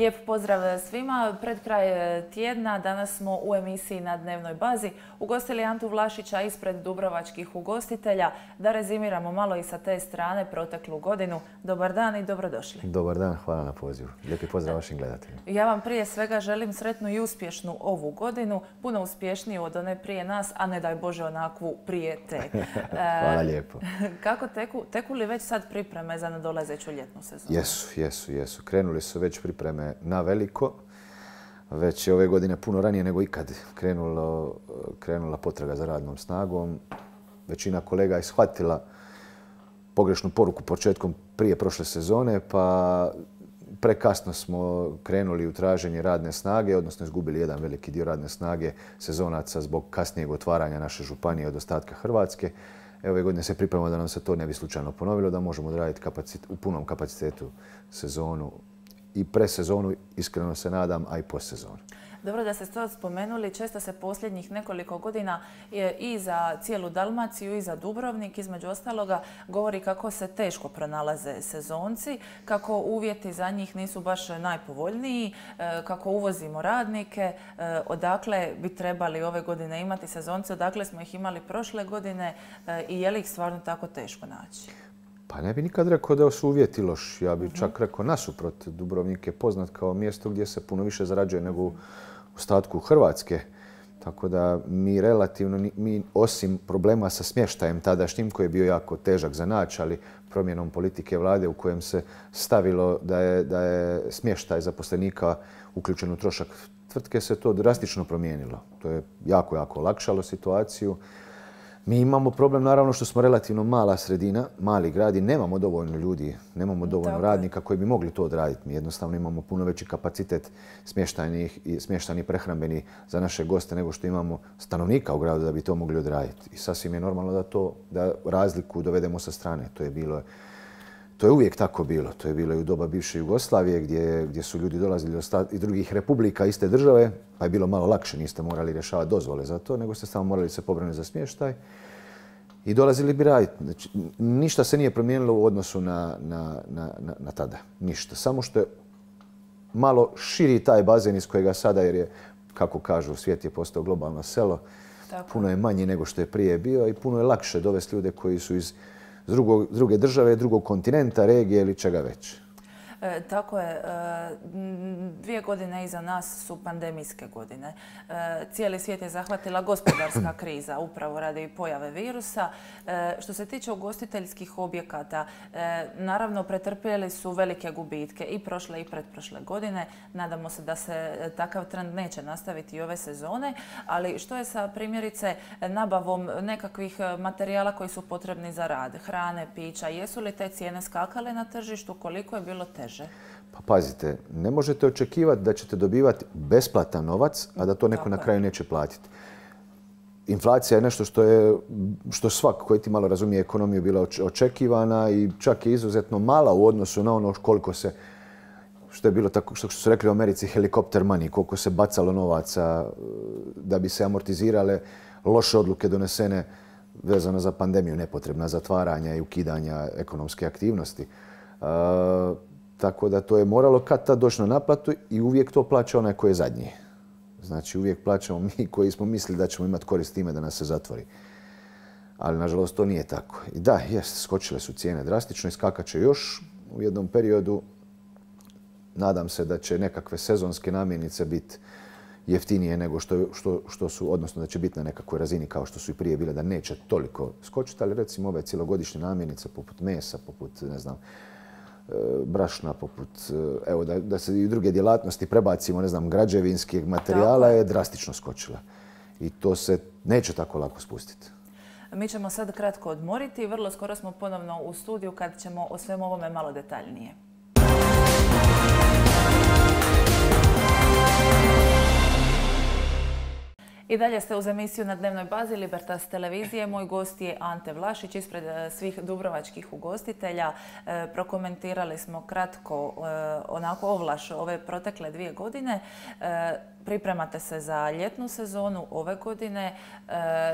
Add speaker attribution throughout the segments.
Speaker 1: Lijep pozdrav svima. Pred kraj tjedna danas smo u emisiji Na dnevnoj bazi ugostili Antu Vlašića ispred dubrovačkih ugostitelja. Da rezimiramo malo i sa te strane proteklu godinu. Dobar dan i dobrodošli.
Speaker 2: Dobar dan, hvala na pozivu. Lijepi pozdrav vašim gledateljima.
Speaker 1: Ja vam prije svega želim sretnu i uspješnu ovu godinu, puno uspješniju od one prije nas, a ne daj Bože onakvu prije te.
Speaker 2: Hvala lijepo.
Speaker 1: Kako teku li već sad pripreme za nadolazeću ljetnu sezonu?
Speaker 2: Jesu. Krenuli su već pripreme na veliko. Već je ove godine puno ranije nego ikad krenula potraga za radnom snagom. Većina kolega je shvatila pogrešnu poruku početkom prije prošle sezone, pa prekasno smo krenuli u traženje radne snage, odnosno izgubili jedan veliki dio radne snage sezonaca zbog kasnijeg otvaranja naše županije od ostatka Hrvatske. Ove godine se pripremamo da nam se to ne bi slučajno ponovilo, da možemo odraditi u punom kapacitetu sezonu i presezonu, iskreno se nadam, a i postsezonu.
Speaker 1: Dobro da ste to spomenuli. Često se posljednjih nekoliko godina i za cijelu Dalmaciju i za Dubrovnik, između ostaloga, govori kako se teško pronalaze sezonci, kako uvjeti za njih nisu baš najpovoljniji, kako uvozimo radnike, odakle bi trebali ove godine imati sezonce, odakle smo ih imali prošle godine i je li ih stvarno tako teško naći?
Speaker 2: Pa ne bi nikad rekao da su uvjeti loši. Ja bih čak rekao nasuprot. Dubrovnik je poznat kao mjesto gdje se puno više zarađuje nego u ostatku Hrvatske. Tako da mi relativno, osim problema sa smještajem tadašnjim, koji je bio jako težak za naći, ali promjenom politike vlade u kojem se stavilo da je smještaj zaposlenika uključen u trošak tvrtke, se to drastično promijenilo. To je jako olakšalo situaciju. Mi imamo problem, naravno, što smo relativno mala sredina, mali grad i nemamo dovoljno ljudi, nemamo dovoljno radnika koji bi mogli to odraditi. Mi jednostavno imamo puno veći kapacitet smještajnih prehrambeni za naše goste nego što imamo stanovnika u gradu da bi to mogli odraditi. I sasvim je normalno da razliku dovedemo sa strane. To je uvijek tako bilo. To je bilo i u doba bivše Jugoslavije gdje su ljudi dolazili iz drugih republika iste države, pa je bilo malo lakše, niste morali rješavati dozvole za to, nego ste samo morali se pobrinuti za smještaj i dolazili bi raditi. Znači, ništa se nije promijenilo u odnosu na tada. Ništa. Samo što je malo širi taj bazen iz kojega sada, jer je, kako kažu, svijet je postao globalno selo, puno je manji nego što je prije bio i puno je lakše dovesti ljude koji su iz druge države, drugog kontinenta, regije ili čega već.
Speaker 1: Tako je. 2 godine iza nas su pandemijske godine. Cijeli svijet je zahvatila gospodarska kriza upravo radi pojave virusa. Što se tiče ugostiteljskih objekata, naravno pretrpjeli su velike gubitke i prošle i pretprošle godine. Nadamo se da se takav trend neće nastaviti i ove sezone. Ali što je sa primjerice nabavom nekakvih materijala koji su potrebni za rad, hrane, pića? Jesu li te cijene skakale na tržištu? Koliko je bilo teže?
Speaker 2: Pa pazite, ne možete očekivati da ćete dobivati besplatan novac, a da to neko na kraju neće platiti. Inflacija je nešto što svak koji ti malo razumije ekonomiju bila očekivana i čak je izuzetno mala u odnosu na ono koliko se, što je bilo tako, što su rekli u Americi, helikopter money, koliko se bacalo novaca da bi se amortizirale loše odluke donesene vezano za pandemiju, nepotrebna zatvaranja i ukidanja ekonomske aktivnosti. Tako da to je moralo kad tad doći na naplatu i uvijek to plaća onaj koji je zadnji. Znači uvijek plaćamo mi koji smo mislili da ćemo imati korist time da nas se zatvori. Ali nažalost to nije tako. I da, skočile su cijene drastično i skakat će još u jednom periodu. Nadam se da će nekakve sezonske namirnice biti jeftinije nego što su, odnosno da će biti na nekakvoj razini kao što su i prije bile, da neće toliko skočiti, ali recimo ove cjelogodišnje namirnice poput mesa, poput, ne znam, brašna, poput, evo da se i druge djelatnosti prebacimo, ne znam, građevinskih materijala je drastično skočila. I to se neće tako lako spustiti.
Speaker 1: Mi ćemo sad kratko odmoriti i vrlo skoro smo ponovno u studiju kad ćemo o svemu ovome malo detaljnije. I dalje ste uz emisiju Na dnevnoj bazi Libertas televizije. Moj gost je Ante Vlašić ispred svih dubrovačkih ugostitelja. Prokomentirali smo kratko onako ovlaš ove protekle 2 godine. pripremate se za ljetnu sezonu ove godine.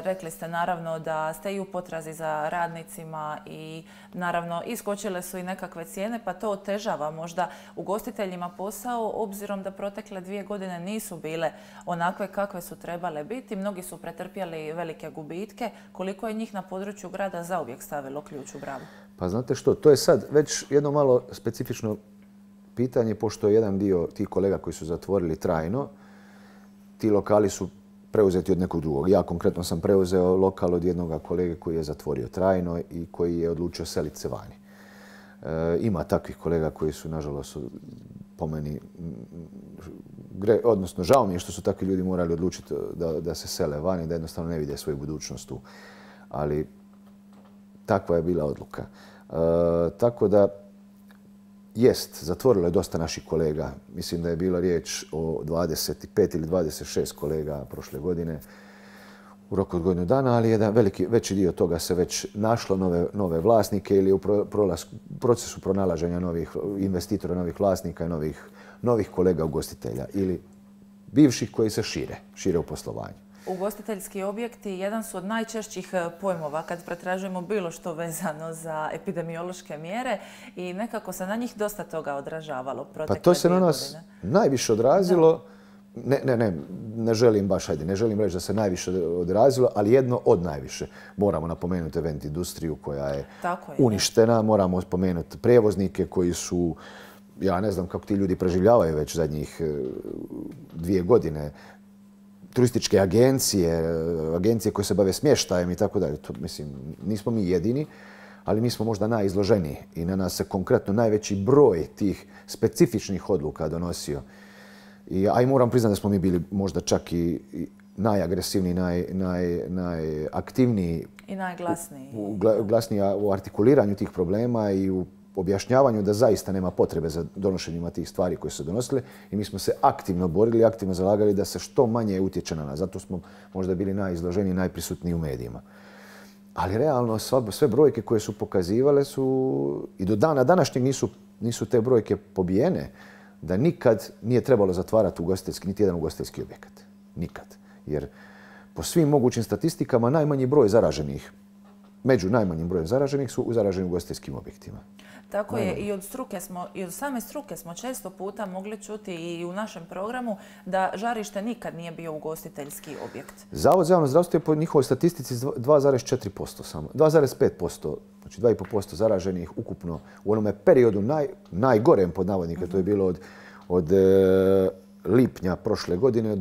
Speaker 1: Rekli ste naravno da ste i u potrazi za radnicima i naravno iskočile su i nekakve cijene, pa to otežava možda ugostiteljima posao, obzirom da protekle 2 godine nisu bile onakve kakve su trebale biti. Mnogi su pretrpjeli velike gubitke. Koliko je njih na području grada zauvijek stavilo ključ u bravu?
Speaker 2: Pa znate što, to je sad već jedno malo specifično pitanje, pošto je jedan dio tih kolega koji su zatvorili trajno, ti lokali su preuzeti od nekog drugog. Ja konkretno sam preuzeo lokal od jednog kolege koji je zatvorio trajno i koji je odlučio seliti se vani. Ima takvih kolega koji su, nažalost, po meni, odnosno žao mi je što su takvi ljudi morali odlučiti da se sele vani, da jednostavno ne vide svoju budućnost tu. Ali takva je bila odluka. Tako da, jest, zatvorilo je dosta naših kolega. Mislim da je bila riječ o 25 ili 26 kolega prošle godine u roku od godinu dana, ali jedan veći dio toga se već našlo nove vlasnike ili u procesu pronalaženja novih investitora, novih vlasnika i novih kolega ugostitelja ili bivših koji se šire u poslovanju.
Speaker 1: Ugostiteljski objekti jedan su od najčešćih pojmova kad pretražujemo bilo što vezano za epidemiološke mjere i nekako se na njih dosta toga odražavalo protekle 2 godine.
Speaker 2: Pa to se na nas najviše odrazilo. Ne želim baš, ne želim reći da se najviše odrazilo, ali jedno od najviše. Moramo napomenuti event industriju koja je uništena, moramo spomenuti prijevoznike koji su, ja ne znam kako ti ljudi preživljavaju već zadnjih 2 godine, turističke agencije koje se bave smještajem i tako dalje. Mislim, nismo mi jedini, ali mi smo možda najizloženiji i na nas se konkretno najveći broj tih specifičnih odluka donosio. I moram priznati da smo mi bili možda čak i najagresivniji, najaktivniji
Speaker 1: i najglasniji
Speaker 2: u artikuliranju tih problema i u objašnjavanju da zaista nema potrebe za donošenjima tih stvari koje su se donosile i mi smo se aktivno borili, aktivno zalagali da se što manje utječe na nas. Zato smo možda bili najizloženiji, najprisutniji u medijima. Ali realno sve brojke koje su pokazivale su i do dana današnjeg nisu te brojke pobijene, da nikad nije trebalo zatvarati niti jedan ugostiteljski objekat. Nikad. Jer po svim mogućim statistikama najmanji broj zaraženih, među najmanjim brojem zaraženih su zaraženi u ugostiteljskim objektima.
Speaker 1: Tako je, i od same struke smo često puta mogli čuti i u našem programu da žarište nikad nije bio ugostiteljski objekt.
Speaker 2: Zavod za javno zdravstvo je po njihovoj statistici 2,4% samo, 2,5%, znači 2,5% zaraženih ukupno u onome periodu najgorem pod navodnika, to je bilo od lipnja prošle godine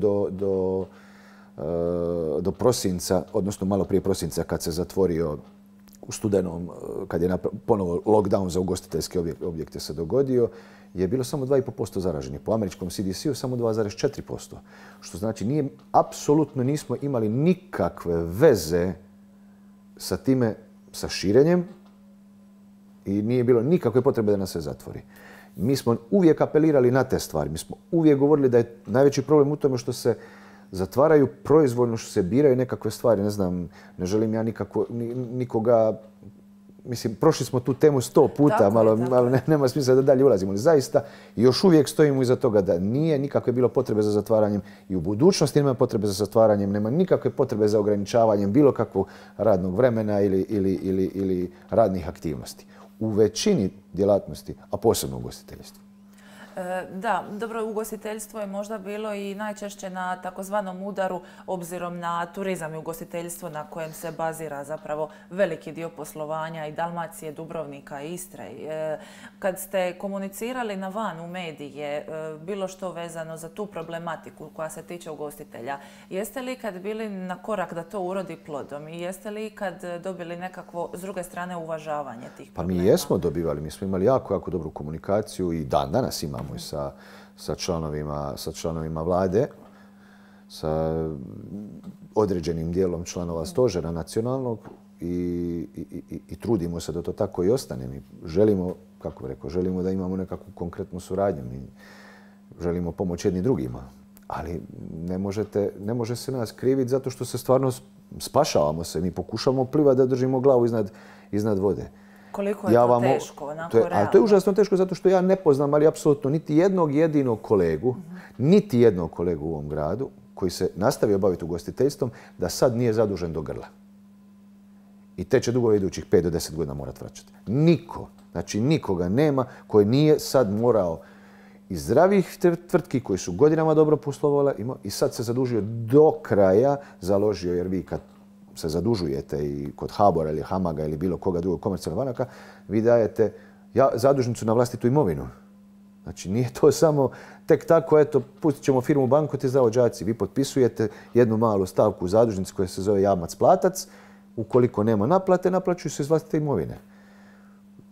Speaker 2: do prosinca, odnosno malo prije prosinca kad se zatvorio u studenom, kad je ponovo lockdown za ugostiteljske objekte se dogodio, je bilo samo 2,5% zaraženih. Po američkom CDC-u samo 2,4%. Što znači apsolutno nismo imali nikakve veze sa time, sa širenjem i nije bilo nikakve potrebe da nas se zatvori. Mi smo uvijek apelirali na te stvari. Mi smo uvijek govorili da je najveći problem u tome što se zatvaraju proizvoljno, što se biraju nekakve stvari. Ne znam, ne želim ja nikoga... Mislim, prošli smo tu temu 100 puta, malo nema smisla da dalje ulazimo. Ali zaista još uvijek stojimo iza toga da nije nikakve bilo potrebe za zatvaranjem i u budućnosti nema potrebe za zatvaranjem, nema nikakve potrebe za ograničavanjem bilo kakvog radnog vremena ili radnih aktivnosti. U većini djelatnosti, a posebno u ugostiteljstvu.
Speaker 1: Da, dobro, ugostiteljstvo je možda bilo i najčešće na takozvanom udaru obzirom na turizam i ugostiteljstvo na kojem se bazira zapravo veliki dio poslovanja i Dalmacije, Dubrovnika i Istre. Kad ste komunicirali na van u medije bilo što vezano za tu problematiku koja se tiče ugostitelja, jeste li kad bili na korak da to urodi plodom i jeste li kad dobili nekakvo s druge strane uvažavanje tih problema?
Speaker 2: Pa mi jesmo dobivali, mi smo imali jako dobru komunikaciju i danas imamo i sa članovima vlade, sa određenim dijelom članova stožera nacionalnog i trudimo se da to tako i ostane. Mi želimo, kako bih rekao, želimo da imamo nekakvu konkretnu suradnju. Mi želimo pomoći jedni drugima, ali ne može se nas kriviti zato što se stvarno spašavamo se. Mi pokušamo plivati da držimo glavu iznad vode.
Speaker 1: Koliko je to teško, onako realno?
Speaker 2: Ali to je užasno teško zato što ja ne poznam, ali apsolutno niti jednog jedinog kolegu, niti jednog kolegu u ovom gradu koji se nastavio baviti ugostiteljstvom da sad nije zadužen do grla. I te će dugove idućih 5 do 10 godina morati vraćati. Niko, znači nikoga nema koji nije sad morao iz zdravih tvrtki koji su godinama dobro poslovale i sad se zadužio do kraja, založio, jer vi kad se zadužujete i kod HBOR-a ili Hamaga ili bilo koga drugog komercijalnog banaka, vi dajete zadužnicu na vlastitu imovinu. Znači nije to samo tek tako, eto, pustit ćemo firmu u banku, ti zavođaci. Vi potpisujete jednu malu stavku u zadužnici koja se zove jamac-platac. Ukoliko nema naplate, naplaćuju se iz vlastite imovine.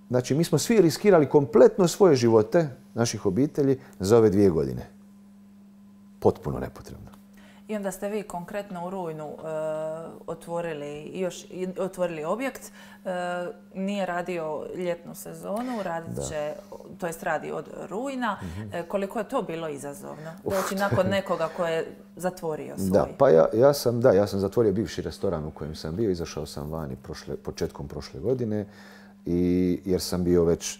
Speaker 2: Znači mi smo svi riskirali kompletno svoje živote, naših obitelji, za ove 2 godine. Potpuno nepotrebno.
Speaker 1: I onda ste vi konkretno u rujnu otvorili objekt. Nije radio ljetnu sezonu, radi od rujna. Koliko je to bilo izazovno? Doći nakon nekoga ko je zatvorio svoj.
Speaker 2: Da, pa ja sam zatvorio bivši restoran u kojem sam bio. Izašao sam vani početkom prošle godine jer sam bio već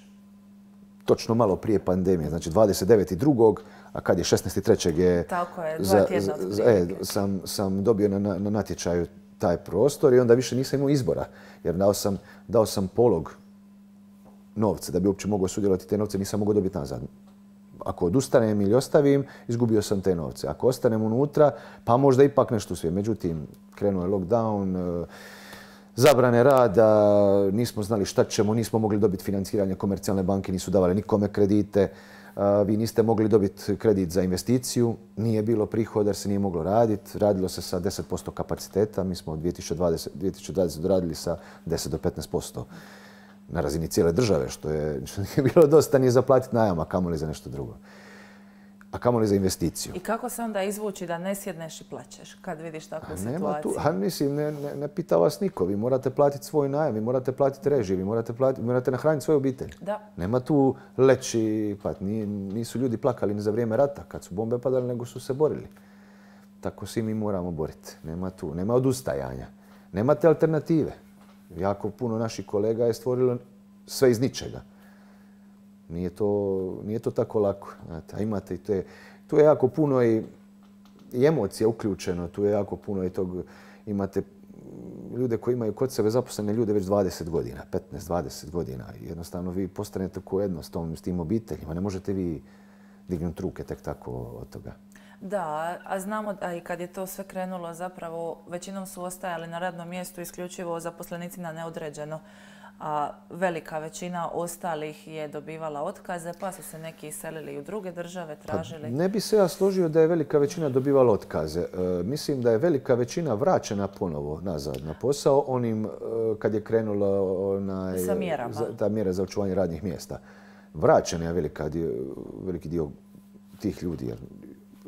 Speaker 2: točno malo prije pandemije, znači 29.2. a kad je 16.3. je...
Speaker 1: Tako je, 2 tjedna otprilike.
Speaker 2: Sam dobio na natječaju taj prostor i onda više nisam imao izbora. Jer dao sam polog novca da bi uopće mogao sudjelovati te novce, nisam mogao dobiti nazad. Ako odustanem ili ostavim, izgubio sam te novce. Ako ostanem unutra, pa možda ipak nešto uspijem. Međutim, krenuo je lockdown, zabrane rada, nismo znali šta ćemo, nismo mogli dobiti financiranje, komercijalne banke nisu davale nikome kredite, vi niste mogli dobiti kredit za investiciju, nije bilo prihoda jer se nije moglo raditi, radilo se sa 10% kapaciteta, mi smo 2020 doradili sa 10 do 15% na razini cijele države, što je bilo dosta nije za platiti najam, a kamoli za nešto drugo. A kamoli za investiciju.
Speaker 1: I kako se onda izvući da ne sjedneš i plaćeš kad vidiš takvu situaciju?
Speaker 2: Mislim, ne pita vas niko. Vi morate platiti svoj najam, vi morate platiti režije, vi morate nahraniti svoju obitelj.
Speaker 1: Da.
Speaker 2: Nema tu leći, nisu ljudi plakali ni za vrijeme rata kad su bombe padale, nego su se borili. Tako svi mi moramo boriti. Nema odustajanja. Nemate alternative. Jako puno naših kolega je stvorilo sve iz ničega. Nije to tako lako. Znate, a imate i tu je jako puno i emocija uključeno, tu je jako puno i tog, imate ljude koji imaju kod sebe zaposlene ljude već 20 godina, 15-20 godina. Jednostavno vi postanete ko jedno s tim obiteljima. Ne možete vi dignuti ruke tek tako od toga.
Speaker 1: Da, a znamo da i kad je to sve krenulo zapravo većinom su ostajali na radnom mjestu isključivo zaposlenici na neodređeno. A velika većina ostalih je dobivala otkaze, pa su se neki iselili u druge države, tražili...
Speaker 2: Ne bi se ja složio da je velika većina dobivala otkaze. Mislim da je velika većina vraćena ponovo nazad na posao onim kad je krenula ta mjera za očuvanje radnih mjesta. Vraćena je veliki dio tih ljudi.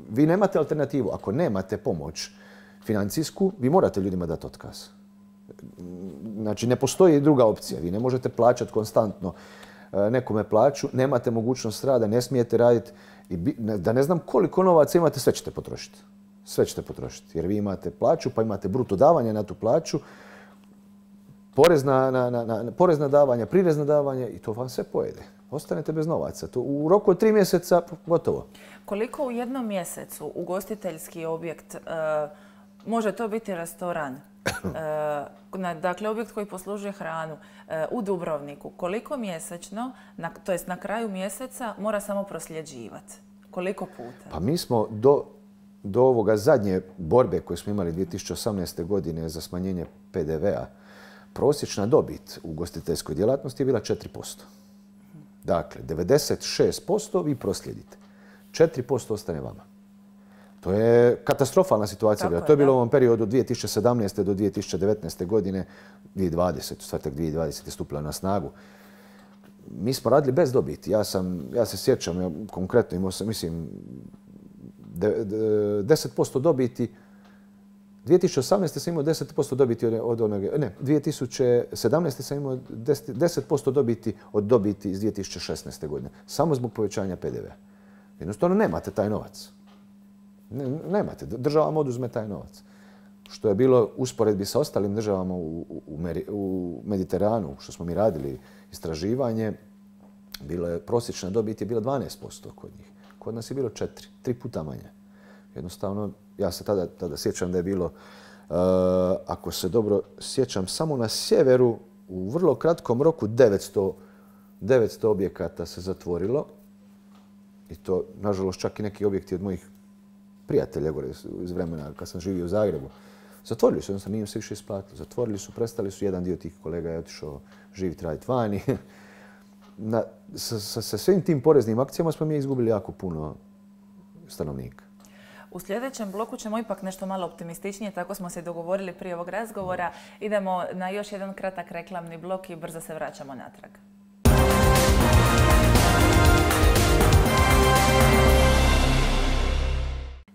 Speaker 2: Vi nemate alternativu. Ako nemate pomoć financijsku, vi morate ljudima dati otkaz. Znači, ne postoji druga opcija. Vi ne možete plaćati konstantno nekome plaću, nemate mogućnost rada, ne smijete raditi. Da ne znam koliko novaca imate, sve ćete potrošiti. Sve ćete potrošiti. Jer vi imate plaću, pa imate bruto davanje na tu plaću, porezna davanja, prirezna davanja i to vam sve pojede. Ostanete bez novaca. To u roku od 3 mjeseca gotovo.
Speaker 1: Koliko u jednom mjesecu ugostiteljski objekt, može to biti restoran, dakle objekt koji poslužuje hranu u Dubrovniku, koliko mjesečno, to jest na kraju mjeseca, mora samo prosljeđivati? Koliko puta?
Speaker 2: Pa mi smo do ovoga zadnje borbe koje smo imali 2018. godine za smanjenje PDV-a, prosječna dobit u ugostiteljskoj djelatnosti je bila 4%. Dakle, 96% vi proslijedite. 4% ostane vama. To je katastrofalna situacija. To je bilo u ovom periodu od 2017. do 2019. godine, 2020. Stvar tek 2020. je stupila na snagu. Mi smo radili bez dobiti. Ja se sjećam, konkretno imao sam, mislim, 10% dobiti. 2018. sam imao 10% dobiti od onoga, ne, 2017. sam imao 10% dobiti od dobiti iz 2016. godine. Samo zbog povećanja PDV-a. Jednostavno nemate taj novac. Nemate. Država vam oduzme taj novac. što je bilo usporedbi sa ostalim državama u Mediteranu, što smo mi radili istraživanje, prosječna dobit je bila 12% kod njih. Kod nas je bilo 3 puta manje. Jednostavno, ja se tada sjećam da je bilo, ako se dobro sjećam, samo na sjeveru u vrlo kratkom roku 900 objekata se zatvorilo. I to, nažalost, čak i neki objekti od mojih prijatelja gore iz vremena kad sam živio u Zagrebu. Zatvorili su, jednostavno nije im se više isplatilo. Zatvorili su, prestali su, jedan dio tih kolega je otišao živjeti, raditi vani. Sa svim tim poreznim akcijama smo mi izgubili jako puno stanovnika.
Speaker 1: U sljedećem bloku ćemo ipak nešto malo optimističnije, tako smo se dogovorili prije ovog razgovora. Idemo na još jedan kratak reklamni blok i brzo se vraćamo natrag.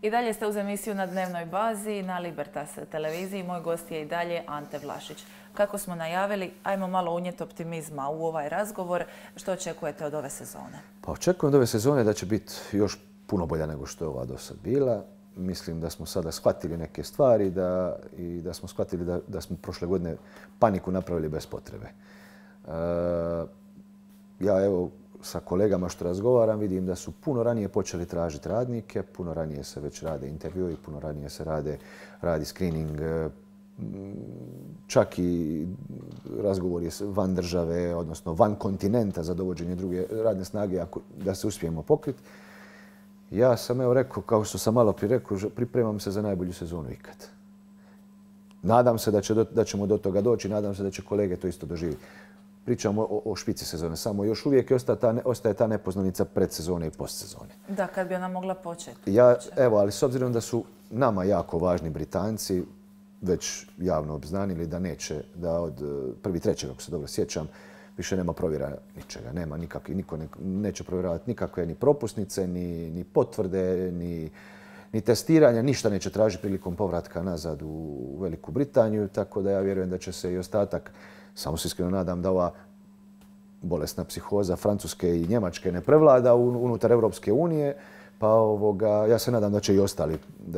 Speaker 1: I dalje ste uz emisiju Na dnevnoj bazi na Libertas televiziji. Moj gost je i dalje Ante Vlašić. Kako smo najavili, ajmo malo unijeti optimizma u ovaj razgovor. Što očekujete od ove sezone?
Speaker 2: Pa očekujem od ove sezone da će biti još puno bolja nego što je ova do sad bila. Mislim da smo sada shvatili neke stvari i da smo shvatili da smo prošle godine paniku napravili bez potrebe. Ja evo sa kolegama što razgovaram vidim da su puno ranije počeli tražiti radnike, puno ranije se već rade intervjui, puno ranije se radi screening, čak i razgovori van države, odnosno van kontinenta za dovođenje druge radne snage da se uspijemo pokriti. Ja sam evo rekao, kao što sam malo prije rekao, pripremam se za najbolju sezonu ikad. Nadam se da ćemo do toga doći, nadam se da će kolege to isto doživjeti. Pričamo o špici sezone, samo još uvijek ostaje ta nepoznanica predsezone i postsezone.
Speaker 1: Da, kad bi ona mogla početi.
Speaker 2: Evo, ali s obzirom da su nama jako važni Britanci već javno obznanili da neće, da od 1.3. ako se dobro sjećam, više nema provjera ničega. Nema niko neće provjeravati nikakve ni propusnice, ni potvrde, ni testiranja. Ništa neće tražiti prilikom povratka nazad u Veliku Britaniju, tako da ja vjerujem da će se i ostatak, samo se iskreno nadam da ova bolesna psihoza Francuske i Njemačke ne prevlada unutar Europske unije, pa ja se nadam da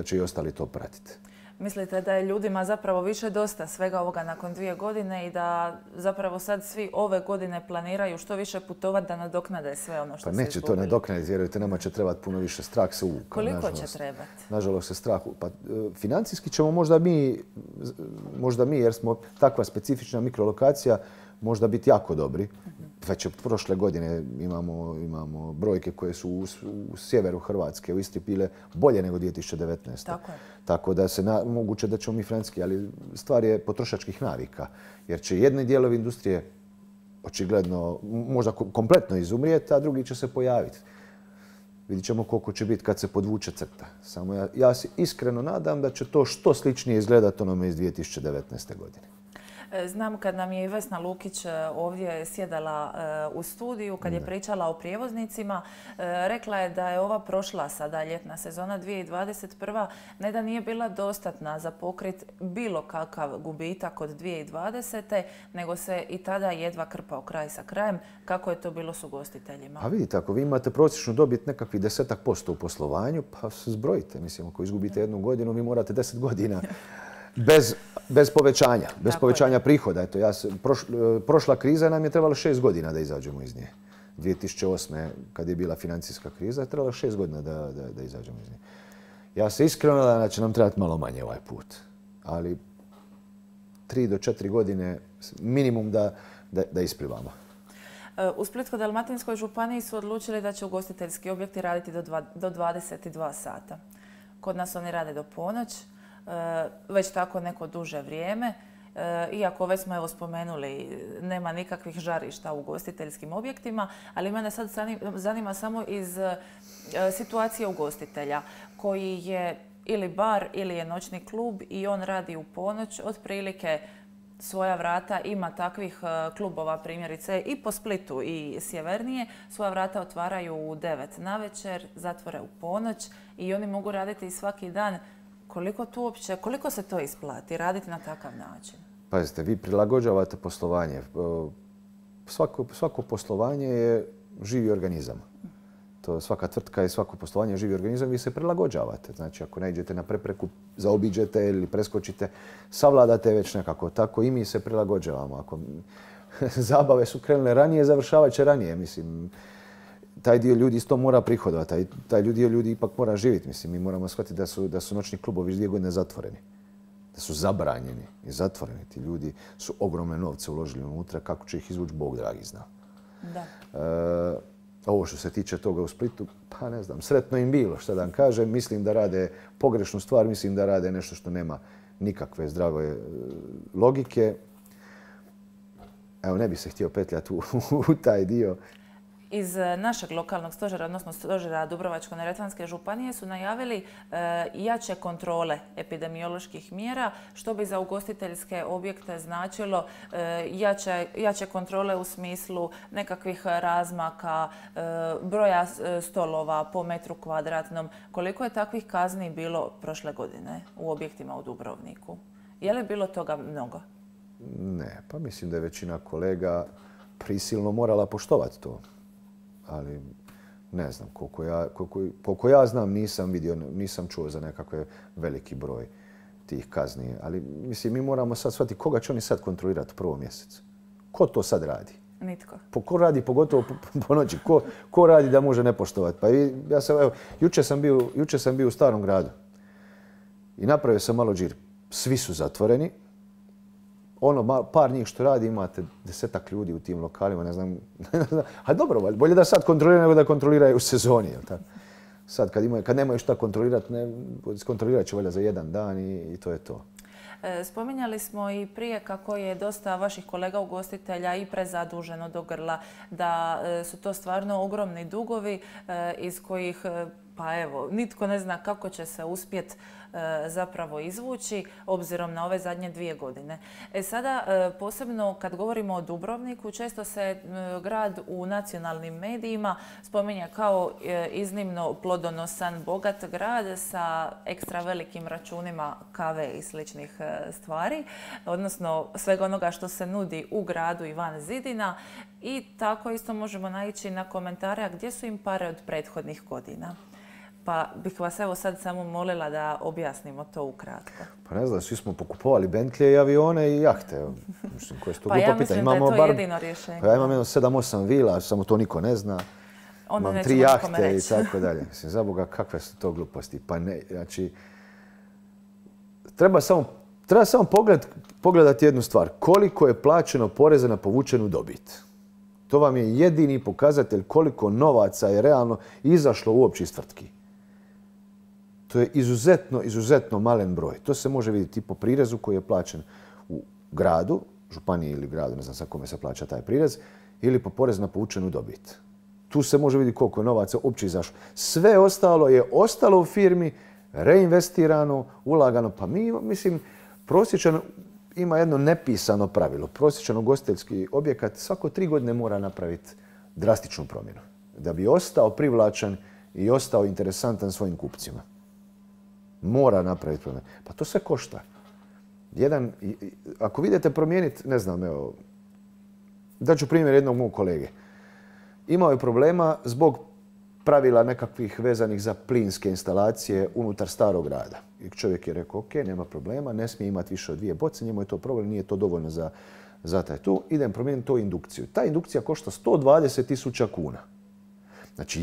Speaker 2: će i ostali to pratiti.
Speaker 1: Mislite da je ljudima zapravo više dosta svega ovoga nakon 2 godine i da zapravo sad svi ove godine planiraju što više putovati da nadoknade sve ono što se izgubili? Pa neće to nadoknaditi, vjerujte, nama će trebati puno više, strah se uvukao. Koliko će trebati?
Speaker 2: Nažalost se strah. Pa financijski ćemo možda mi, jer smo takva specifična mikrolokacija, možda biti jako dobri. Već od prošle godine imamo brojke koje su u sjeveru Hrvatske, u Istri bile bolje nego 2019.
Speaker 1: Tako je.
Speaker 2: Tako da se moguće da ćemo mi francuski, ali stvar je potrošačkih navika. Jer će jedni dijelovi industrije očigledno možda kompletno izumrijeti, a drugi će se pojaviti. Vidjet ćemo koliko će biti kad se podvuče crta. Samo ja se iskreno nadam da će to što sličnije izgledati onome iz 2019. godine.
Speaker 1: Znam kad nam je i Vesna Lukić ovdje sjedala u studiju, kad je pričala o prijevoznicima, rekla je da je ova prošla sada ljetna sezona 2021. ne da nije bila dostatna za pokrit bilo kakav gubitak od 2020. nego se i tada jedva krpao kraj sa krajem. Kako je to bilo s ugostiteljima?
Speaker 2: A vidite, ako vi imate prosječnu dobit nekakvih 10% u poslovanju, pa se zbrojite. Mislim, ako izgubite 1 godinu, vi morate 10 godina bez povećanja, bez povećanja prihoda. Eto, prošla kriza nam je trebala 6 godina da izađemo iz nje. 2008. kad je bila financijska kriza, je trebala 6 godina da izađemo iz nje. Ja se iskreno nadam da će nam trebati malo manje ovaj put. Ali 3 do 4 godine minimum da isplivamo.
Speaker 1: U Splitsko-dalmatinskoj županiji su odlučili da će ugostiteljski objekti raditi do 22 sata. Kod nas oni rade do ponoć. Već tako neko duže vrijeme. Iako već smo spomenuli, nema nikakvih žarišta u ugostiteljskim objektima, ali mene sad zanima samo iz situacije ugostitelja koji je ili bar ili je noćni klub i on radi u ponoć, otprilike svoja vrata, ima takvih klubova primjerice i po Splitu i sjevernije, svoja vrata otvaraju u 9 navečer, zatvore u ponoć i oni mogu raditi svaki dan. Koliko se to isplati raditi na takav način?
Speaker 2: Pazite, vi prilagođavate poslovanje. Svako poslovanje je živi organizam. To svaka tvrtka i svako poslovanje živi organizam, vi se prilagođavate. Znači, ako naiđete na prepreku, zaobiđete ili preskočite, savladate već nekako. Tako i mi se prilagođavamo. Ako zabave su krenule ranije, završavat će ranije. Mislim, taj dio ljudi isto mora prihodovati. Taj dio ljudi ipak mora živjeti. Mislim, mi moramo shvatiti da su noćni klubovi 2 godine zatvoreni. Da su zabranjeni i zatvoreni. Ti ljudi su ogromne novce uložili unutra. Kako će ih izvući, Bog dragi zna.
Speaker 1: Da.
Speaker 2: Ovo što se tiče toga u Splitu, pa ne znam, sretno im bilo, šta da vam kažem. Mislim da rade pogrešnu stvar, mislim da rade nešto što nema nikakve zdrave logike. Evo, ne bih se htio petljati u taj dio.
Speaker 1: Iz našeg lokalnog stožera, odnosno stožera Dubrovačko-neretvanske županije su najavili jače kontrole epidemioloških mjera, što bi za ugostiteljske objekte značilo jače kontrole u smislu nekakvih razmaka, broja stolova po metru kvadratnom. Koliko je takvih kazni bilo prošle godine u objektima u Dubrovniku? Je li bilo toga mnogo?
Speaker 2: Ne, pa mislim da je većina kolega prisilno morala poštovati to. Ali ne znam, koliko ja znam nisam čuo za nekakve veliki broj tih kazni. Ali mislim, mi moramo sad shvatiti koga će oni sad kontrolirati u prvom mjesecu. Ko to sad radi?
Speaker 1: Nitko.
Speaker 2: Ko radi pogotovo po noći? Ko radi da može ne poštovati? Pa jučer sam bio u Starom gradu i napravio sam malo džir. Svi su zatvoreni. Par njih što radi, imate 10-ak ljudi u tim lokalima, ne znam. A dobro, bolje da sad kontroliraju nego da kontroliraju u sezoni. Sad kad nemaju šta kontrolirati, kontrolirat će valjda za jedan dan i to je to.
Speaker 1: Spominjali smo i prije kako je dosta vaših kolega ugostitelja i prezaduženo do grla, da su to stvarno ogromni dugovi iz kojih, pa evo, nitko ne zna kako će se uspjeti zapravo izvući obzirom na ove zadnje 2 godine. Sada, posebno kad govorimo o Dubrovniku, često se grad u nacionalnim medijima spominje kao iznimno plodonosan, bogat grad sa ekstra velikim računima kave i sličnih stvari, odnosno svega onoga što se nudi u gradu i van zidina. I tako isto možemo naići na komentare, a gdje su im pare od prethodnih godina? Pa bih vas evo sad samo molila da objasnimo to ukratko.
Speaker 2: Pa ne znam, svi smo pokupovali Bentley i avione i jahte. Mislim, koje su to
Speaker 1: pa ja mislim da je to jedino rješenje.
Speaker 2: Pa ja imam 7-8 vila, samo to niko ne zna.
Speaker 1: Onda
Speaker 2: imam 3 jahte i tako dalje. Mislim, za Boga, kakve su to gluposti. Pa ne, znači, treba samo pogledati jednu stvar. Koliko je plaćeno poreza na povučenu dobit. To vam je jedini pokazatelj koliko novaca je realno izašlo uopće iz tvrtki. To je izuzetno malen broj. To se može vidjeti i po prirezu koji je plaćen u gradu, županiji ili gradu, ne znam sa kome se plaća taj prirez, ili po porezu na povučenu dobit. Tu se može vidjeti koliko je novaca uopće izašlo. Sve ostalo je ostalo u firmi, reinvestirano, ulagano. Pa mi, mislim, prosječan ima jedno nepisano pravilo. Prosječan ugostiteljski objekat svako 3 godine mora napraviti drastičnu promjenu. Da bi ostao privlačan i ostao interesantan svojim kupcima. Mora napraviti promjenu. Pa to sve košta. Ako vidite promijeniti, ne znam, evo, daću primjer jednog mog kolege. Imao je problema zbog pravila nekakvih vezanih za plinske instalacije unutar Starog grada. I čovjek je rekao, ok, nema problema, ne smije imati više od 2 boce, njemu je to problem, nije to dovoljno za taj tu. Idem promijeniti to indukciju. Ta indukcija košta 120.000 kuna. Znači,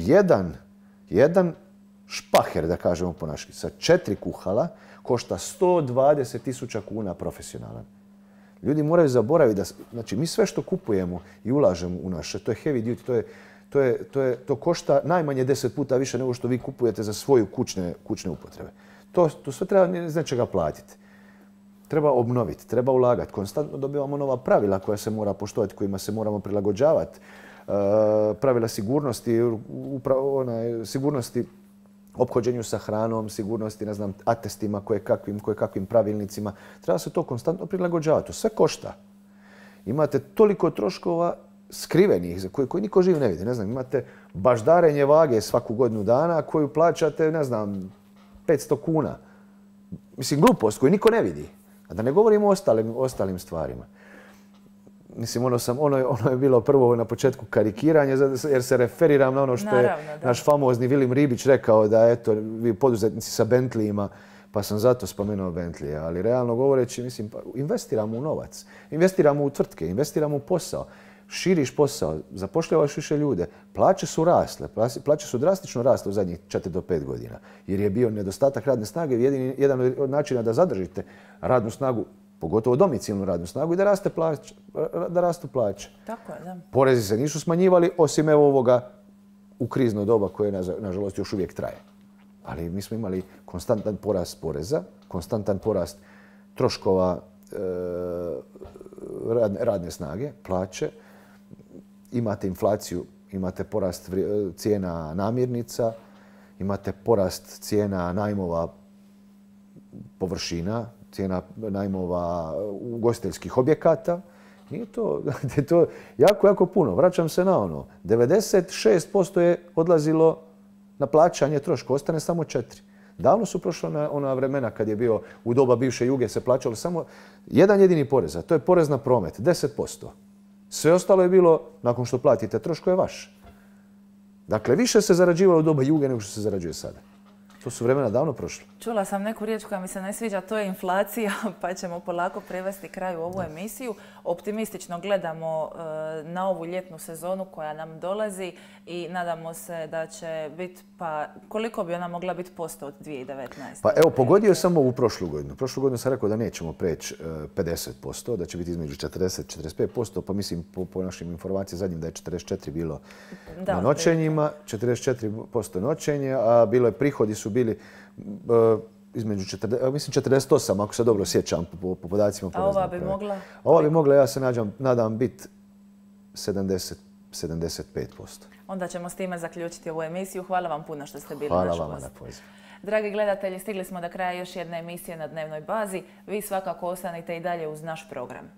Speaker 2: jedan špaher, da kažemo po naški, sa 4 kuhala košta 120.000 kuna profesionalan. Ljudi moraju zaboraviti da, znači, mi sve što kupujemo i ulažemo u naše, to je heavy duty, to košta najmanje 10 puta više nego što vi kupujete za svoju kućne upotrebe. To sve treba iz nečega platiti. Treba obnoviti, treba ulagati. Konstantno dobivamo nova pravila koja se mora poštovati, kojima se moramo prilagođavati. Pravila sigurnosti ophođenju sa hranom, sigurnosti, ne znam, atestima, kakvim pravilnicima. Treba se to konstantno prilagođavati. To sve košta. Imate toliko troškova skrivenih za koji niko živ ne vidi. Ne znam, imate baždarenje vage svaku godinu dana koju plaćate, ne znam, 500 kuna. Mislim, glupost koju niko ne vidi. A da ne govorimo o ostalim stvarima. mislim, ono je bilo prvo na početku karikiranje, jer se referiram na ono što je naš famozni Vilim Ribić rekao da, eto, vi poduzetnici sa Bentleyima, pa sam zato spomenuo Bentley. Ali realno govoreći, mislim, investiramo u novac, investiramo u tvrtke, investiramo u posao, širiš posao, zapošljavaš više ljude, plaće su rasle, plaće su drastično rasle u zadnjih 4 do 5 godina, jer je bio nedostatak radne snage, jedan od načina da zadržite radnu snagu, pogotovo domicilnu radnu snagu, i da rastu plaće.
Speaker 1: Tako je, da.
Speaker 2: Porezi se nisu smanjivali, osim evo ovoga u krizno doba koje, nažalost, još uvijek traje. Ali mi smo imali konstantan porast poreza, konstantan porast troškova radne snage, plaće. Imate inflaciju, imate porast cijena namirnica, imate porast cijena najmova površina, cijena najmova ugostiteljskih objekata. Nije to, je to jako, jako puno. Vraćam se na ono. 96% je odlazilo na plaćanje troška, ostane samo 4%. Davno su prošla ona vremena kad je bio u doba bivše Juge se plaćalo samo jedan jedini porez, a to je porez na promet, 10%. Sve ostalo je bilo, nakon što platite troško, je vaše. Dakle, više se zarađivalo u doba Juge nego što se zarađuje sada. To su vremena davno prošle.
Speaker 1: Čula sam neku riječ koja mi se ne sviđa, to je inflacija, pa ćemo polako privesti kraju ovu emisiju. Optimistično gledamo na ovu ljetnu sezonu koja nam dolazi i nadamo se da će biti, pa koliko bi ona mogla biti posto od 2019.
Speaker 2: Pa evo, pogodio sam ovu prošlu godinu. Prošlu godinu sam rekao da nećemo preći 50%, da će biti između 40-45%, pa mislim po našim informacijama zadnjim da je 44% bilo na noćenjima, 44% noćenje, a bilo je prihodi su bili između 48, ako se dobro sjećam po podacima.
Speaker 1: A ova bi mogla?
Speaker 2: Ova bi mogla, ja se nadam, biti 75%.
Speaker 1: Onda ćemo s time zaključiti ovu emisiju. Hvala vam puno što ste bili naš gost.
Speaker 2: Hvala vama na pozivu.
Speaker 1: Dragi gledatelji, stigli smo do kraja još jedne emisije na dnevnoj bazi. Vi svakako ostanite i dalje uz naš program.